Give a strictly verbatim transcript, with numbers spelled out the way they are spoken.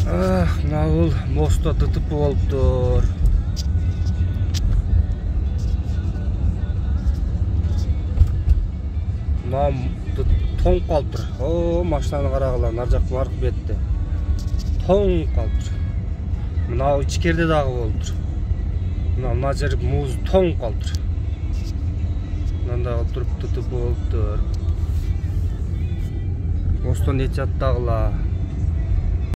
Мына бул мостто ДТП болуптур. Мына тоңуп калыптыр. О, машинаны карагыла, нар жак аркы бетте. Тоңуп калыптыр. Мына ичкерде дагы болуптур. Мына мына жер муз тоңуп калыптыр. Мында туруп ДТП болуптур. Мосттон эч жаттагыла.